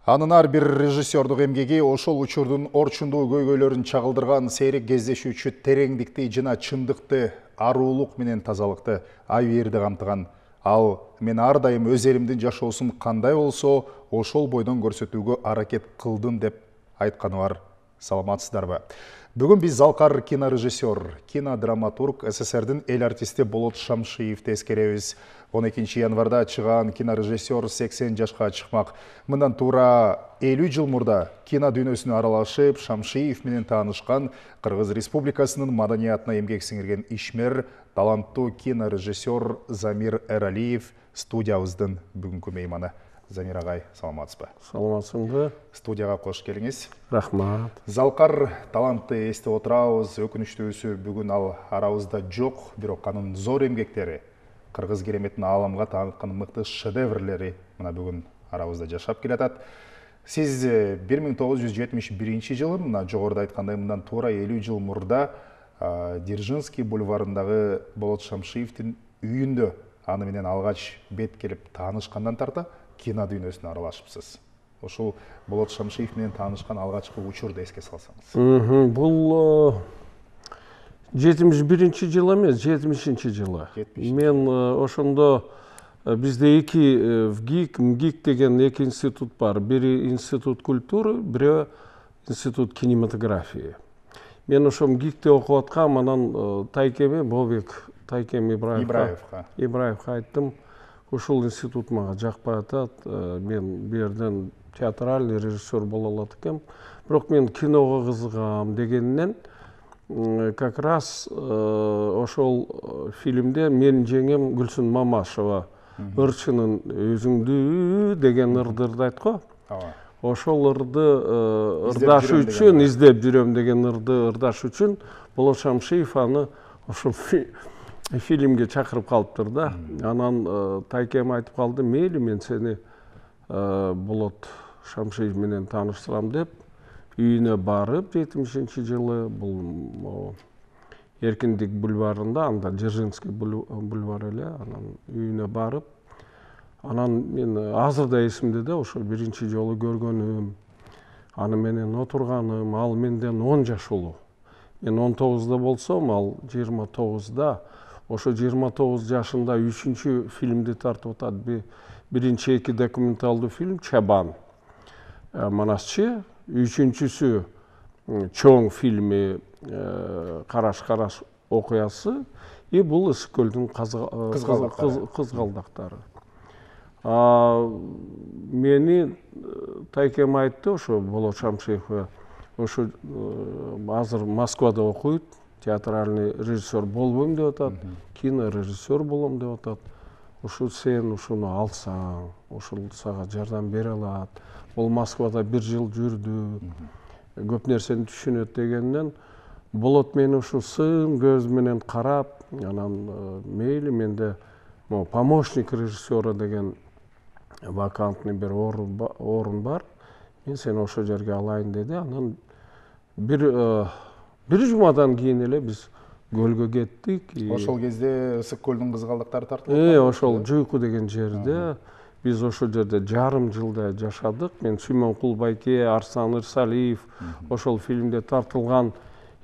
Анын ар бир режиссердук эмгеги ошол учурдун орчундуу көйгөйлөрүн чагылдырган сейрек кездешүүчү тереңдикти жана чындыкты, аруулук менен тазалыкты, ай бээрди камтыган. Ал мен ар дайым өз элимдин жашоосун кандай болсо, ошол бойдон көрсөтүүгө аракет кылдым деп айтканы бар. Саламатсыздарбы? Бүгүн биз Залкар кинорежиссер, кинодраматург, СССРдин эл артисти Болот Шамшиевди эскеребиз. 12 январда чыган кинорежиссер 80 жашка чыкмак. Мындан туура 50 жыл мурда кино дүйнөсүнө аралашып, Шамшиев менен таанышкан Кыргыз Республикасынын маданиятына эмгек сиңирген ишмер, таланттуу кинорежиссер Замир Эралиев студиябыздын бүгүнкү мейманы. Замир агай, саламатсызбы? Саламатсызбы? Студияга кош келиңиз. Рахмат. Залкар талантты эстеп отурабыз. Өкүнүчтүүсү бүгүн ал арабызда жок, бирок анын зор эмгектери, кыргыз кереметин ааламга тааныткан мыкты шедеврлери мына бүгүн арабызда жашап келатат. Сиз 1971 жылы, мына жогоруда айткандай, мындан туура 50 жыл мурда Дзержинский бульварындагы Болот Шамшиевдин үйүндө аны менен алгач бет келип таанышкандан тарта кино дүйнөсүнө аралашыпсыз. Ошол Болот Шамшиев менен таанышкан алгачкы учурду эске салсаңыз. Бул 71 жыл эмес, 70 жылы. Мен ошондо бизде эки МГИК деген эки институт бар. Бири институт культуры, бири институт кинематографии. Мен ошо МГИКте окуп аткам, анан Тайкеме Бобек Ибраевга айттым. Ошол институт мага жакпай атат. Мен бу жерден театральный режиссер боло алат экенм. Бирок мен киного кызыгам дегеннен как раз ошол фильмде менин жеңем Гүлсүн Мамашева ырчынын өзүңдү деген ырдырды айтты го. Ошол ырды ырдаш үчүн, издеп жүрөм деген ырды ырдаш үчүн Болот Шамшиев аны ошол фильмге чакырып калыптыр да. Анан Тайкем айтып калды, мейли мен сени Болот Шамшиев менен тааныштырам деп үйүнө барып 70 жылы бул Эркиндик бульварында, анда Дзержинский бульвар эле, анан үйүнө барып, анан мен азыр да эсимде да, ошо биринчи жолу көргөнүм, аны менен отурганым, ал менден 10 жаш улуу. Мен 19да болсом, ал 29да. Ошо 29 жашында 3-чү фильмди тартып атат. Биринчи эки документалдуу фильм Чабан, Манасчы, 3-чүсү чоң фильми Караш окуясы, и бул Ысык көлдүн кызгалдактары. Мени Тайкем айтты, ошо Болот Шамшиевге, ошо азыр Москвада окуйт, театральный режиссер болбойм деп атат, кинорежиссер болом деп атат. Ошо сен ушуну алсаң, ошол сага жардам бере алат. Ол Москвада 1 жыл жүрдү, көп нерсени түшүнөт дегенден, Болот мени ушу сын көз менен карап, анан мейли менде помощник режиссера деген вакантный бир орун бар. Мен сени ошо жерге алайын деди. Анан бир жумадан кийин эле биз көлгө кеттик. Ошол кезде Ысык көлдүн кызгалдактары тартылып ошол Жуйку деген жерде. Биз ошол жерде жарым жылдай жашадык. Мен Сүймөнкул Байке, Арслан Ырсалиев ошол фильмде тартылган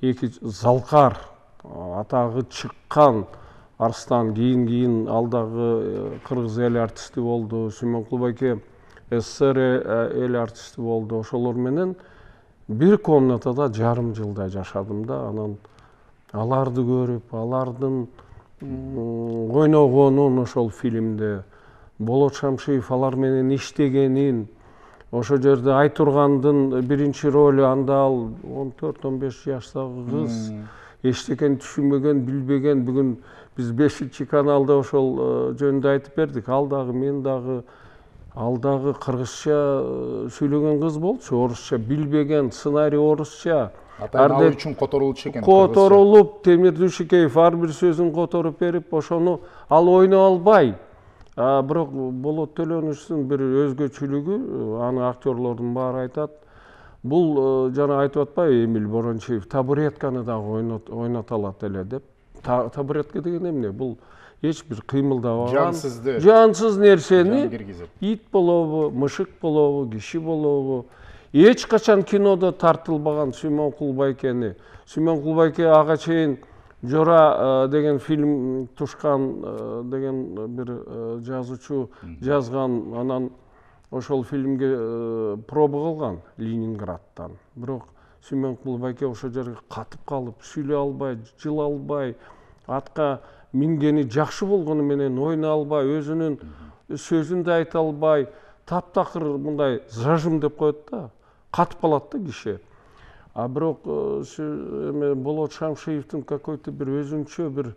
эки Залкар атагы чыккан Арслан кийин алдагы кыргыз эл артисти болду. Сүймөнкул Байке СССР эл артисти болду. Ошолор менен бир комнатада жарым жылдай жашадым да. Анан аларды көрүп, алардын ойногонун ошол фильмде, Болот Шамшиев алар менен иштегенин, ошо жерде Айтургандын биринчи ролу, анда ал 14-15 жаштагы кыз, эчтекени түшүнбөгөн, билбеген. Бүгүн биз 5-чи каналда ошол жөнүндө айтып бердик. Ал дагы, мен дагы, ал дагы кыргызча сүйлөгөн кыз болчу, орусча билбеген, сценарий орусча. Ал үчүн которулчу экен. Которулуп, Темир Дүйшүкеев ар бир сөзүн которуп берип, ошону ал ойной албай. Бирок Болот Төлөнүчтүн бир өзгөчөлүгү, аны актерлордун баары айтат. Бул жана айтып атпайбы Эмиль Борончиев, табуретканы дагы ойната алат эле деп. Табуретка деген эмне? Бул эч бир кыймылдабаган жансыз нерсени киргизип, ит болобу, мышык болобу, киши болобу, эч качан кинодо тартылбаган Сүймөн Кулбайкени. Сүймөн Кулбайке ага чейин Жора деген фильм тушкан деген бир жазуучу жазган, анан ошол фильмге проба кылган Ленинградтан. Бирок Сүймөн Кулбайке ошол жерге катып калып, сүйлөй албай, жыла албай, атка мингени жакшы болгону менен ойнай албай, өзүнүн сөзүн да айта албай, таптакыр мындай зажим деп коет да, катып калат да киши. А бирок Болот Шамшиевдин какой-то бир өзүнчө бир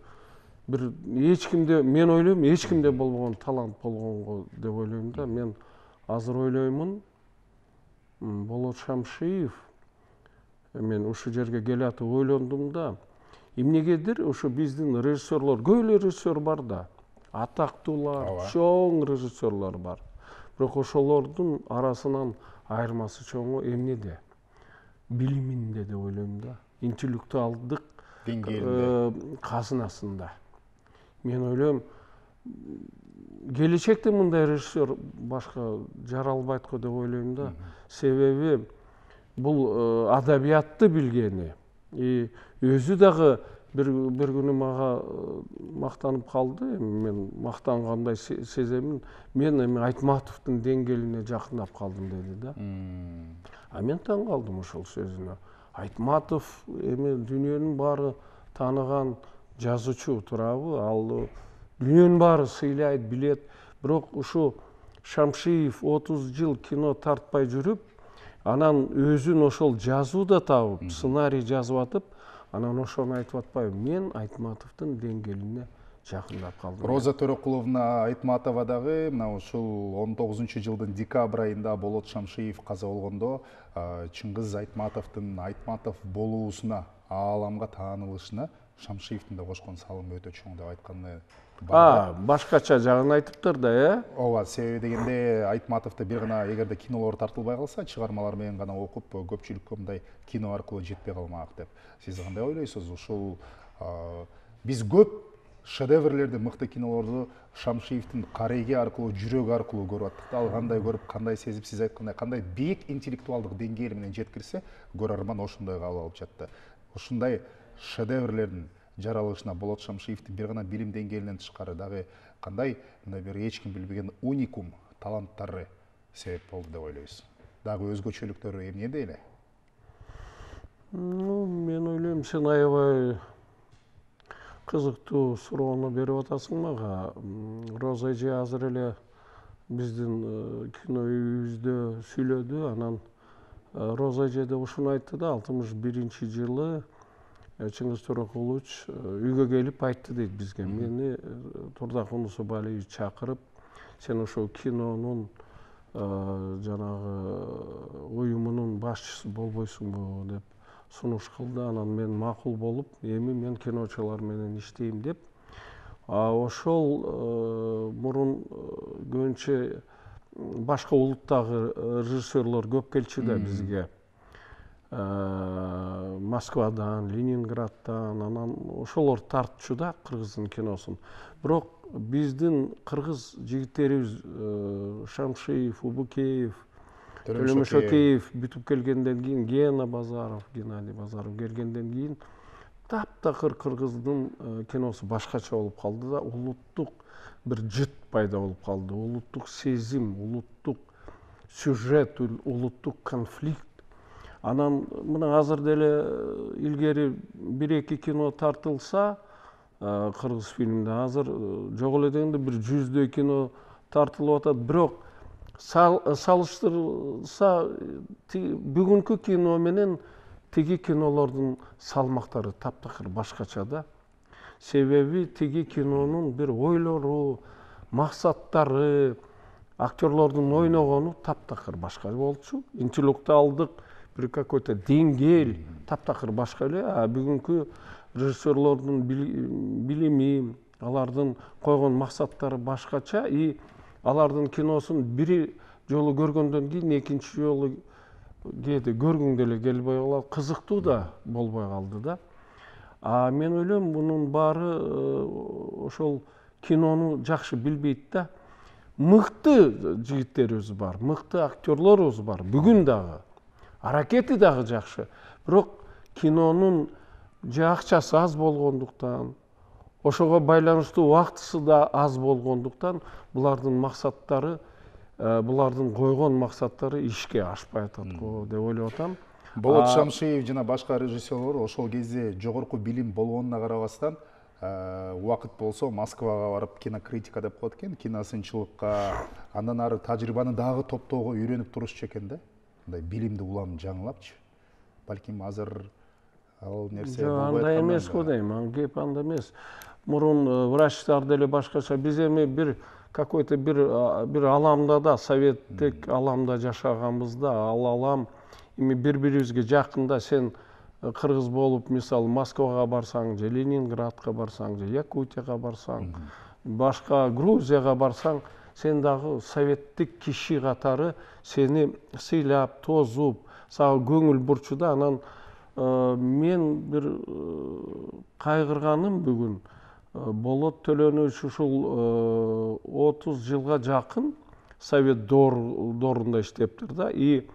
эч кимде, мен ойлойм, эч кимде болбогон талант болгонго деп ойлойм да. Мен азыр ойлоймун, Болот Шамшиев, мен ушул жерге келатып ойлондум да, эмнегедир ошо биздин режиссерлор, көп эле режиссер бар да, атактуулар, чоң режиссерлор бар. Бирок ошолордун арасынан айырмасы чоңу эмнеде? Билиминде деп ойлойм да, интеллектуалдык деңгээлинде, казынасында. Мен ойлойм, келечекте мындай режиссер башка жара албайт го деп ойлойм да. Себеби бул адабиятты билгени, өзү дагы бир күнү мага мактанып калды. Мен мактангандай сеземин. Мен эми Айтматовдун деңгээлине жакындап калдым деди да. А мен таң калдым ошол сөзүнө. Айтматов эми дүйнөнүн баары тааныган жазуучу туурабы? Ал дүйнөнүн баары сыйлайт, билет. Бирок ушу Шамшиев 30 жыл кино тартпай жүрүп, анан өзүн ошол жазууда табып, сценарий жазып атып, анан ошону айтып атпайбы? Мен Айтматовдун деңгээлине жакындап калдым. Роза Төрөкуловна Айтматова дагы мына ушул 19-жылдын декабрь айында Болот Шамшиев каза болгондо Чыңгыз Айтматовдун Айтматов болуусуна, ааламга таанылышына Шамшиевдин да кошкон салымы өтө чоң деп айтканы бар. Башкача жагын айтыптыр да, Ооба, себеби дегенде Айтматовду бир гана эгерде кинолор тартылбай калса, чыгармалар менен гана окуп, көпчүлүккө мындай кино аркылуу жетпей калмак деп. Сиз кандай ойлойсуз? Ушул биз көп шедеврлерди, мыкты кинолорду Шамшиевдин кареги аркылуу, жүрөгү аркылуу көрүп аттык да. Ал кандай көрүп, кандай сезип, сиз айткандай, кандай бийик интеллектуалдык деңгээли менен жеткирсе, көрөрман ошондой кабыл алып жатты. Ушундай шедеврлердин жаралышына Болот Шамшиевдин бир гана билим деңгээлинен тышкары дагы кандай мындай бир эч ким билбеген уникум таланттары себеп болду деп ойлойсуз? Дагы өзгөчөлүктөрү эмнеде эле? Мен ойлойм, сен аябай кызыктуу суроону берип атасың мага. Роза эже азыр эле биздин кино үйүбүздө сүйлөдү. Анан Роза эже да ушуну айтты да, 61-жылы Чыңгыз Төрөкулович үйгө келип айтты дейт бизге. Мени Турдак Унусубалиевич чакырып, сен ошол кинонун жанагы уюмунун башчысы болбойсуңбу деп сунуш кылды. Анан мен макул болуп, эми мен киночулар менен иштейм деп. Ошол мурун көбүнчө башка улуттагы режиссерлор көп келчү да бизге. Москвадан, Ленинградтан, анан ошолор тартчу да кыргыздын киносун. Бирок биздин кыргыз жигиттерибиз Шамшиев, Убукеев, Төлөмөшөкеев бүтүп келгенден кийин, Геннадий Базаров келгенден кийин таптакыр кыргыздын киносу башкача болуп калды да, улуттук бир жыт пайда болуп калды. Улуттук сезим, улуттук сюжет, улуттук конфликт. Анан мына азыр деле илгери 1-2 кино тартылса, кыргыз фильмде азыр жок эле дегенде бир 100дөй кино тартылып атат. Бирок салыштырса бүгүнкү кино менен тиги кинолордун салмактары таптакыр башкача да. Себеби тиги кинонун бир ойлору, максаттары, актерлордун ойногону таптакыр башка болчу. Интеллектуалдык бир какой-то деңгээл таптакыр башка эле. Бүгүнкү режиссерлордун билими, алардын койгон максаттары башкача. Алардын киносун бир жолу көргөндөн кийин экинчи жолу кээде көргүң деле келбей калат, кызыктуу да болбой калды да. Мен ойлойм, мунун баары ошол кинону жакшы билбейт да. Мыкты жигиттерибиз бар, мыкты актерлорубуз бар. Бүгүн дагы аракети дагы жакшы. Бирок кинонун же акчасы аз болгондуктан, ошого байланыштуу убактысы да аз болгондуктан булардын максаттары, булардын койгон максаттары ишке ашпай атат го деп ойлоп атам. Болот Шамшиев жана башка режиссерлор ошол кезде жогорку билим болгонуна карабастан убакыт болсо Москвага барып кинокритика деп коет экен, киносынчылыкка, андан ары тажрыйбаны дагы топтоого үйрөнүп турушчу экен да. Мындай билимди улам жаңылапчы. Балким азыр ал нерсе болбой аткандан. Андай эмес го дейм, кеп анда эмес. Мурун врачтар деле башкача, биз эми бир какой-то бир аламда да, советтик аламда жашаганбызда, ал алам эми бири-бирибизге жакында. Сен кыргыз болуп, мисалы Москвага барсаң же Ленинградка барсаң же Якутияга барсаң, башка Грузияга барсаң, сен дагы советтик киши катары сени сыйлап, тозуп, сага көңүл бурчу да. Анан мен бир кайгырганым бүгүн Болот Төлөнүч ушул 30 жылга жакын совет доорунда иштептир да, и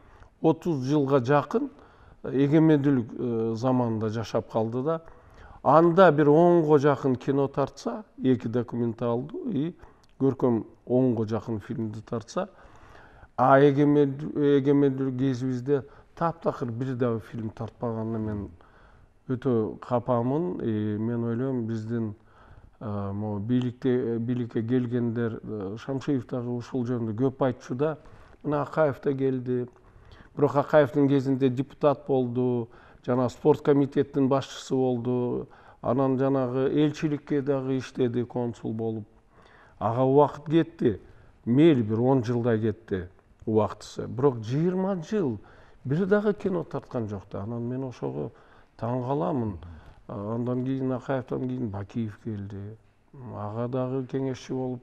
30 жылга жакын эгемендүүлүк заманында жашап калды да. Анда бир 10го жакын кино тартса, 2 документалдуу и көркөм 10го жакын фильмди тартса, а эгемендүүлүк кезибизде таптакыр бир дагы фильм тартпаганына мен өтө капамын. Мен ойлойм, биздин бийликке келгендер, Шамшиев дагы ушул жөнүндө көп айтчу да. Мына Акаев да келди. Бирок Акаевдин кезинде депутат болду, жана спорт комитеттин башчысы болду. Анан жанагы элчиликке дагы иштеди, консул болуп. Ага убакыт кетти. Мейли бир 10 жылдай кетти убактысы. Бирок 20 жыл бир дагы кино тарткан жок да. Анан мен ошого таң каламын. Андан кийин Акаевден кийин Бакиев келди. Ага дагы кеңешчи болуп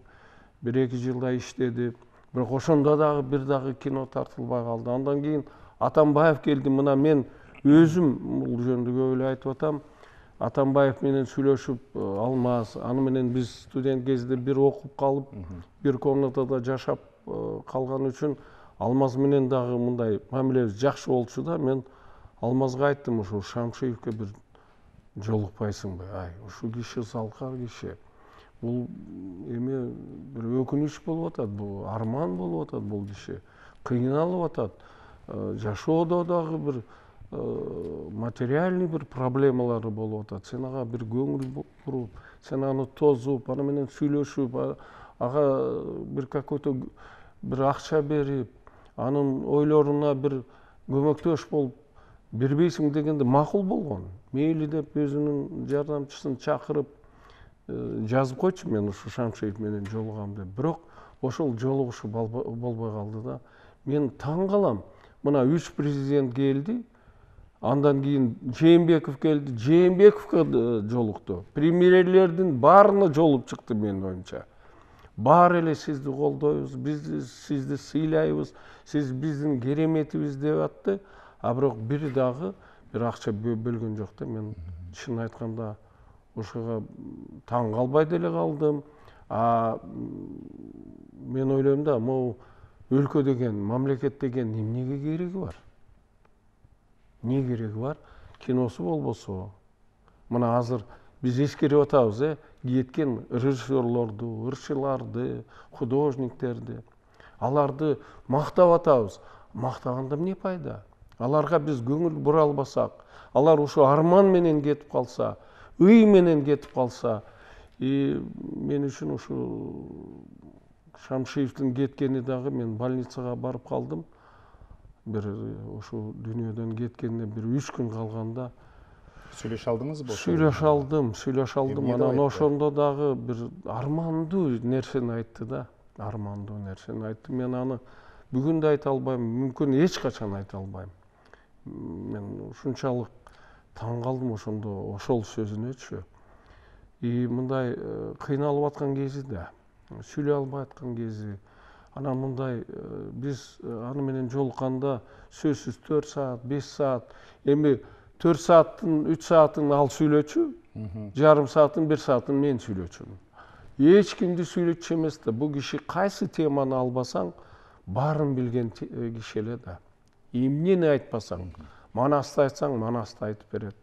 1-2 жылдай иштеди. Бирок ошондо дагы бир дагы кино тартылбай калды. Андан кийин Атамбаев келди. Мына мен өзүм бул жөнүндө көп эле айтып атам. Атамбаев менен сүйлөшүп, Алмаз, аны менен биз студент кезде бир окуп калып, бир комнатада жашап калган үчүн Алмаз менен дагы мындай мамилебиз жакшы болчу да. Мен Алмазга айттым, ушул Шамшиевке бир жолукпайсыңбы? Ай, ушул киши салкар киши. Бул эми бир өкүнүч болуп атат, бул арман болуп атат бул киши. Кыйналып атат. Жашоодо дагы бир материальный бир проблемалары болуп атат. Сен ага бир көңүл буруп, сен аны тозуп, аны менен сүйлөшүп, ага бир какой-то бир акча берип, анын ойлоруна бир көмөктөш болуп бербейсиң дегенде макул болгон. Мейли деп өзүнүн жардамчысын чакырып жазып койчу, мен ушу Шамшиев менен жолугам деп. Бирок ошол жолугушу болбой калды да. Мен таң калам. Мына 3 президент келди. Андан кийин Жээнбеков келди. Жээнбековго жолукту. Премьерлердин баарына жолуп чыкты менин оюмча. Баары эле сизди колдойбуз, биз сизди сыйлайбыз, сиз биздин кереметибиз деп атты. А бирок бир дагы бир акча бөлгөн жок да. Мен чын айтканда ошого таң калбай деле калдым. Мен ойлойм да, могу өлкө деген, мамлекет деген эмнеге кереги бар? Не кереги бар? Киносу болбосо. Мына азыр биз эскерип атабыз, кеткен режиссерлорду, ырчыларды, художниктерди. Аларды мактап атабыз. Мактаганда эмне пайда? Аларга биз көңүл бура албасак, алар ушу арман менен кетип калса, ый менен кетип калса, мен үчүн ушу Шамшиевдин кеткени дагы, мен больницага барып калдым. Бир ушу дүйнөдөн кеткенине бир 3 күн калганда Сүйлөшө алдыңызбы? Сүйлөшө алдым. Анан ошондо дагы бир армандуу нерсени айтты да. Армандуу нерсени айтты. Мен аны бүгүн да айта албайм, мүмкүн эч качан айта албайм. Мен ушунчалык таң калдым ошондо ошол сөзүнөчү. Мындай кыйналып аткан кези да, сүйлөй албай аткан кези. Анан мындай биз аны менен жолукканда сөзсүз 4 саат, 5 саат, эми 4 сааттын 3 саатын ал сүйлөчү, жарым саатын 1 саатын мен сүйлөчүмүн. эч кимди сүйлөтчү эмес да. Бул киши кайсы теманы албасаң баарын билген киши эле да. Эмнени айтпасаң, манасты айтсаң, манасты айтып берет.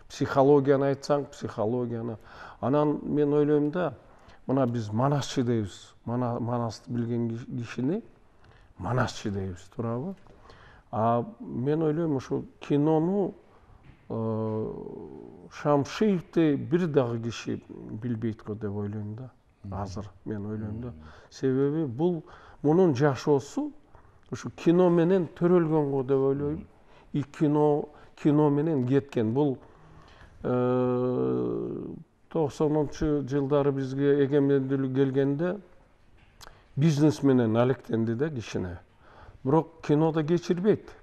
Психологияны айтсаң, психологияны. Анан мен ойлойм да, мына биз манасчы дейбиз. Манасты билген кишини манасчы дейбиз, туурабы? А мен ойлойм, ушу кинону Шамшиевди бир дагы киши билбейт го деп ойлойм да. Азыр мен ойлойм да. Себеби бул мунун жашоосу ушу кино менен төрөлгөн го деп ойлойм. И кино менен кеткен. Бул 90-жылдары бизге эгемендүүлүк келгенде бизнес менен алектенди да кичине. Бирок кинода кечирбейт.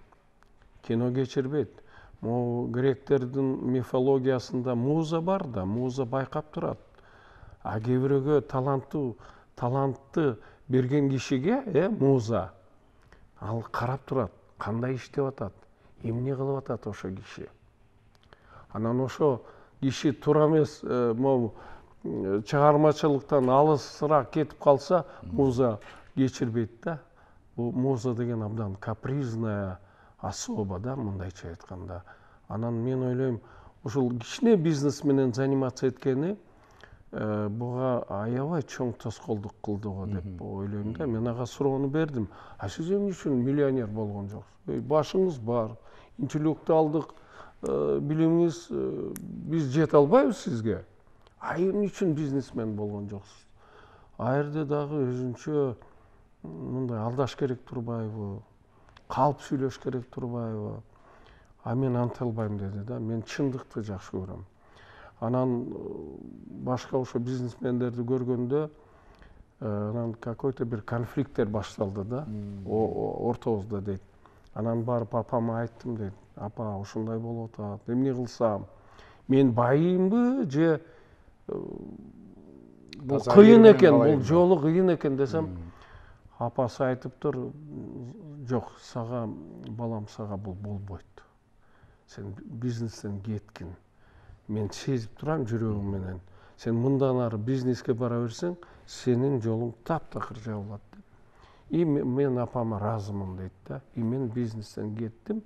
Кино кечирбейт. Могу гректердин мифологиясында муза бар да, муза байкап турат. А кээ бирөөгө талантты берген кишиге, муза, ал карап турат, кандай иштеп атат, эмне кылып атат ошо киши. Анан ошо киши туура эмес, могу чыгармачылыктан алысыраак кетип калса, муза кечирбейт да. Бул муза деген абдан капризная особа да, мындайча айтканда. Анан мен ойлойм, ушул кичине бизнес менен заниматься эткени буга аябай чоң тоскоолдук кылды го деп ойлойм да. Мен ага суроону бердим. А сиз эмне үчүн миллионер болгон жоксуз? Башыңыз бар, интеллектуалдык билимиңиз, биз жете албайбыз сизге. А эмне үчүн бизнесмен болгон жоксуз? А жерде дагы өзүнчө мындай алдаш керек турбайбы? Калп сүйлөш керек турбайбы? А мен анта албайм деди да. Мен чындыкты жакшы көрөм. Анан башка ошо бизнесмендерди көргөндө анан какой-то бир конфликттер башталды да. Ортобузда дейт. Анан барып апама айттым дейт. Апа, ушундай болуп атат. Эмне кылсам? Мен байымбы же бул кыйын экен, бул жолу кыйын экен десем, апасы айтыптыр, жок, сага балам, сага бул болбойт. Сен бизнестен кеткин. Мен сезип турам жүрөгүм менен. Сен мындан ары бизнеске бара берсең, сенин жолуң таптакыр жабылат деп. И мен апама разымын дейт да. И мен бизнестен кеттим.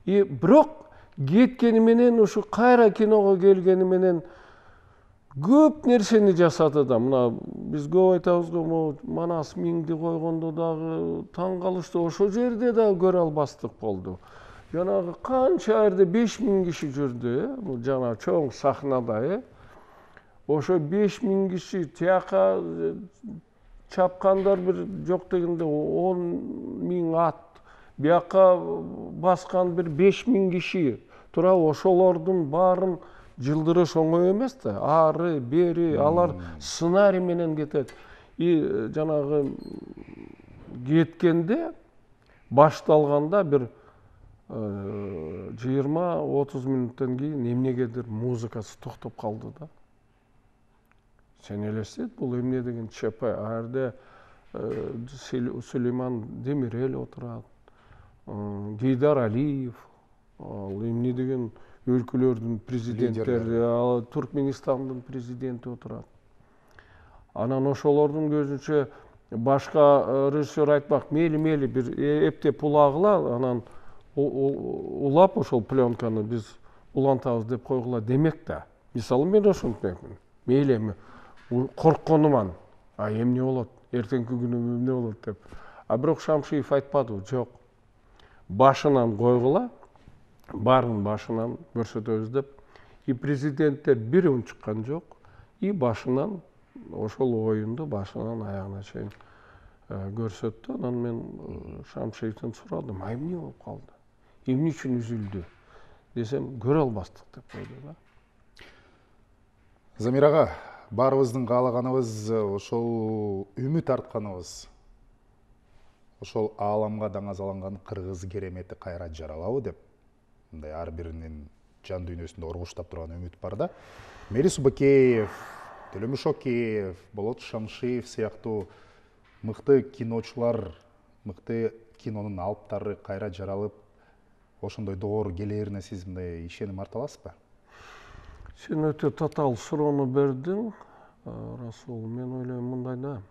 И бирок кеткени менен ушу кайра киного келгени менен көп нерсени жасады да. Мына биз көп айтабыз го, Манас миңди койгондо дагы таң калышты. Ошо жерде дагы көрө албастык болду. Жанагы канча жерде 5000 киши жүрдү, бул жана чоң сахнада, ошо 5000 киши тияка чапкандар бир жок дегенде 10.000 ат, бияка баскан бир 5000 киши. Тура ошолордун баарын жылдырыш оңой эмес да. Ары, бери, алар сценарий менен кетет. И жанагы кеткенде башталганда бир 20-30 мүнөттөн кийин эмнегедир музыкасы токтоп калды да. Сен элестет, бул эмне деген ЧП. А жерде Сулейман Демирел отурат, Гейдар Алиев, ал эмне деген өлкөлөрдүн президенттери, Туркменистандын президенти отурат. Анан ошолордун көзүнчө башка режиссер айтмак, мейли бир эптеп улагыла, анан улап ошол пленканы биз улантабыз деп койгула демек да. Мисалы мен ошентмекмин. Мейли эми коркконуман. А эмне болот? Эртеңки күнү эмне болот деп. А бирок Шамшиев айтпады, жок. Башынан койгула, баарын башынан көрсөтөбүз деп. И президенттер бир унчуккан жок. И башынан ошол оюнду башынан аягына чейин көрсөттү. Анан мен Шамшиевден сурадым, а эмне болуп калды? Эмне үчүн үзүлдү десем, көрө албастык деп койду да. Замир ага, баарыбыздын каалаганыбыз ошол үмүт артканыбыз, ошол ааламга даңазаланган кыргыз керемети кайра жаралабы деп, мындай ар биринин жан дүйнөсүндө оргуштап турган үмүт бар да. Мери Субакеев, Төлөмүш Океев, Болот Шамшиев сыяктуу мыкты киночулар, мыкты кинонун алыптары кайра жаралып, ошондой доор келээрине сиз мындай ишеним арта аласызбы? Сен өтө татаал суроону бердиң. Расул, мен ойлойм мындай да.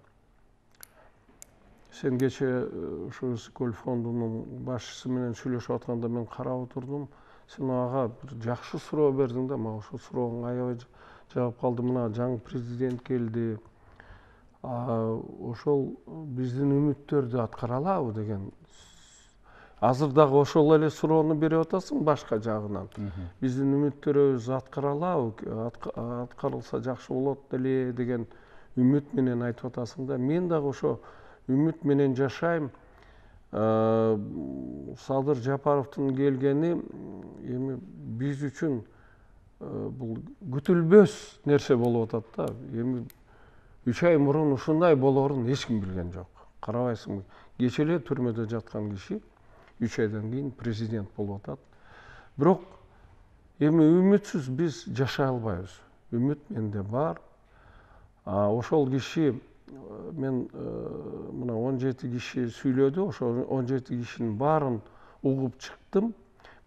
Сен кече ушу Ысыкөл фондунун башчысы менен сүйлөшүп атканда мен карап отурдум. Сен ага бир жакшы суроо бердиң да, мага ошол сурооңо аябай жагып калды. Мына жаңы президент келди. Ошол биздин үмүттөрдү аткара алабы деген. Азыр дагы ошол эле суроону берип атасың башка жагынан. Биздин үмүттөрүбүз аткара алабы, аткарылса жакшы болот эле деген үмүт менен айтып атасың да. Мен дагы ошо үмүт менен жашайм. Садыр Жапаровдун келгени эми биз үчүн бул күтүлбөс нерсе болуп атат да. Эми 3 ай мурун ушундай болоорун эч ким билген жок. Карабайсыңбы? Кече эле түрмөдө жаткан киши 3 айдан кийин президент болуп атат. Бирок эми үмүтсүз биз жашай албайбыз. Үмүт менде бар. Ошол киши мен мына 17 киши сүйлөдү. Ошол 17 кишинин баарын угуп чыктым.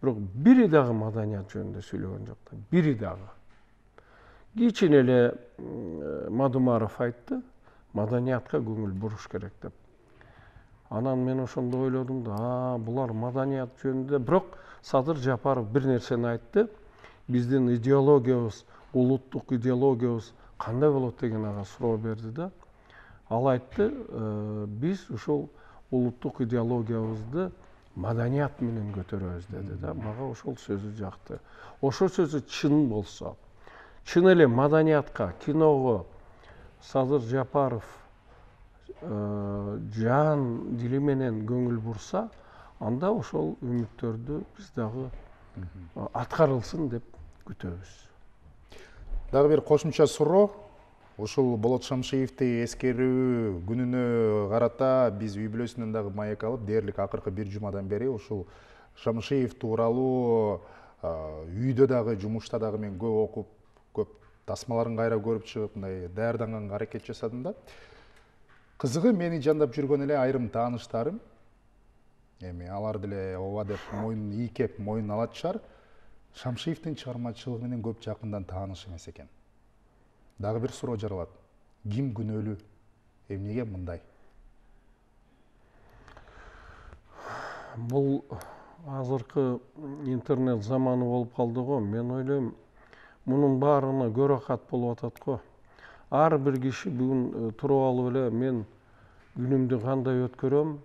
Бирок бири дагы маданият жөнүндө сүйлөгөн жок да. Бири дагы. Кичине эле Мадумаров айтты, маданиятка көңүл буруш керек деп. Анан мен ошондо ойлодум да, булар маданият жөнүндө, бирок Садыр Жапаров бир нерсени айтты. Биздин идеологиябыз, улуттук идеологиябыз кандай болот деген ага суроо берди да. Ал айтты, биз ушул улуттук идеологиябызды маданият менен көтөрөбүз деди да. Мага ошол сөзү жакты. Ошол сөзү чын болсо, чын эле маданиятка, киного Садыр Жапаров жан дили менен көңүл бурса, анда ошол үмүттөрдү биз дагы аткарылсын деп күтөбүз. Дагы бир кошумча суроо. Ушул Болот Шамшиевди эскерүү күнүнө карата биз үй бүлөсүнөн дагы маек алып, дээрлик акыркы 1 жумадан бери ушул Шамшиев тууралуу үйдө дагы, жумушта дагы мен көп окуп, көп тасмаларын кайра көрүп чыгып, мындай даярданганга аракет жасадым да. Кызыгы мени жандап жүргөн эле айрым тааныштарым, эми алар деле ооба деп мойнун ийкеп, мойнун алатышар, Шамшиевдин чыгармачылыгы менен көп жакындан тааныш эмес экен. Дагы бир суроо жаралат. Ким күнөөлүү? Эмнеге мындай? Бул азыркы интернет заманы болуп калды го. Мен ойлойм, мунун баарына көрөкат болуп атат го. Ар бир киши бүгүн туруп алып эле мен күнүмдү кандай өткөрөм,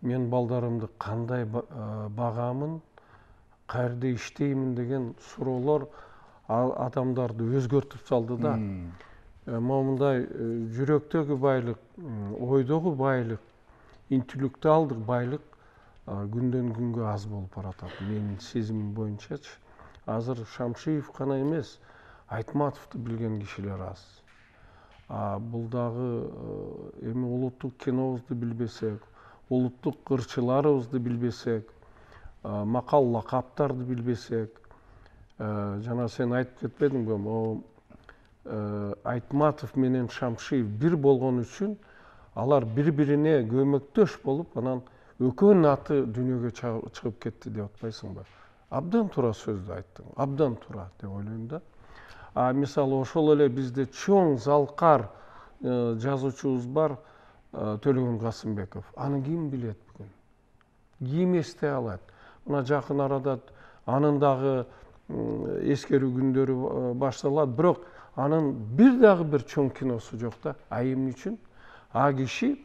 мен балдарымды кандай багамын, каерде иштеймин деген суроолор адамдарды өзгөртүп салды да. Момундай жүрөктөгү байлык, ойдогу байлык, интеллектуалдык байлык күндөн күнгө аз болуп баратат. Менин сезимим боюнчачы. Азыр Шамшиев гана эмес, Айтматовду билген кишилер аз. Бул дагы эми улуттук кинобузду билбесек, улуттук ырчыларыбызды билбесек, макал лакаптарды билбесек, жана сен айтып кетпедиңби, могу Айтматов менен Шамшиев бир болгон үчүн алар бири-бирине көмөктөш болуп, анан экөөнүн аты дүйнөгө чыгып кетти деп атпайсыңбы? Абдан туура сөздү айттың, абдан туура деп ойлойм да. Мисалы ошол эле бизде чоң залкар жазуучубуз бар, Төлөгөн Касымбеков. Аны ким билет бүгүн? Ким эстей алат? Мына жакын арада анын дагы эскерүү күндөрү башталат, бирок анын бир дагы бир чоң киносу жок да. Эмне үчүн? Киши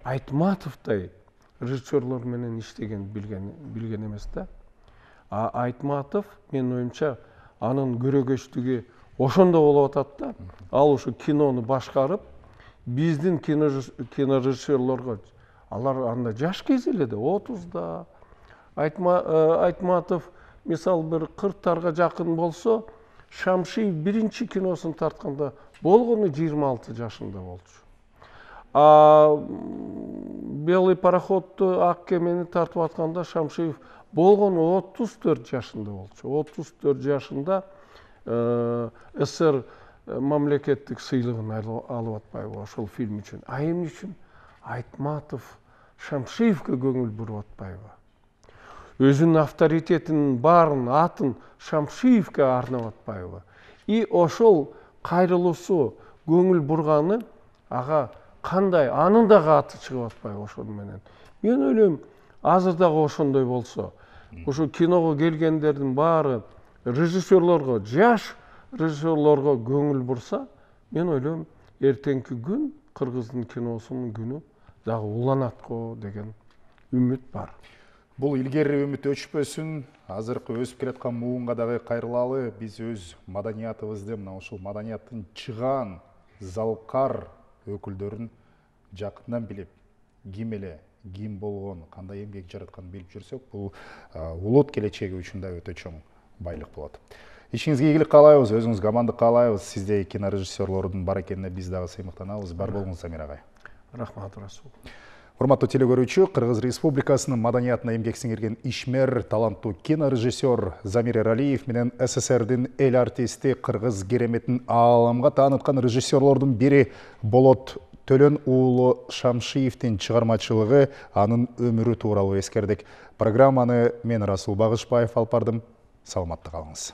Айтматовдой режиссерлор менен иштеген билген эмес да. Айтматов, менин оюмча, анын көрөгөчтүгү ошондо болуп атат да. Ал ушу кинону башкарып, биздин кинорежиссерлорго, алар анда жаш кези эле да, 30да. Айтматов мисал бир 40тарга жакын болсо, Шамшиев биринчи киносун тартканда болгону 26 жашында болчу. Белый пароходду, ак кемени тартып атканда Шамшиев болгону 34 жашында болчу. 34 жашында СССР мамлекеттик сыйлыгын алып атпайбы ошол фильм үчүн. Эмне үчүн? Айтматов Шамшиевге көңүл буруп атпайбы? Өзүнүн авторитетинин баарын, атын Шамшиевге арнап атпайбы? И ошол кайрылуусу, көңүл бурганы ага кандай, анын дагы аты чыгып атпайбы ошону менен. Мен ойлойм, азыр дагы ошондой болсо, ошо киного келгендердин баары режиссерлорго, жаш режиссерлорго көңүл бурса, мен ойлойм, эртеңки күн кыргыздын киносунун күнү дагы уланат го деген үмүт бар. Бул илгери үмүт өчпөсүн, азыркы өсүп келаткан муунга дагы кайрылалы. Биз өз маданиятыбызды, мына ушул маданияттын чыгаан, залкар өкүлдөрүн жакындан билип, ким эле, ким болгон, кандай эмгек жаратканын билип жүрсөк, бул улут келечеги үчүн да өтө чоң байлык болот. Ишиңизге ийгилик каалайбыз, өзүңүзгө амандык каалайбыз. Сиздей кинорежиссерлордун бар экенине биз дагы сыймыктанабыз. Бар болуңуз, Замир агай. Рахмат, Расул. Урматтуу телекөрүүчү, Кыргыз Республикасынын маданиятына эмгек сиңирген ишмер, таланттуу кинорежиссер Замир Эралиев менен СССРдин эл артисти, кыргыз кереметин ааламга тааныткан режиссерлордун бири Болот Төлөн уулу Шамшиевдин чыгармачылыгы, анын өмүрү тууралуу эскердик. Программаны мен Расул Багышбаев алып бардым. Саламатта калыңыз.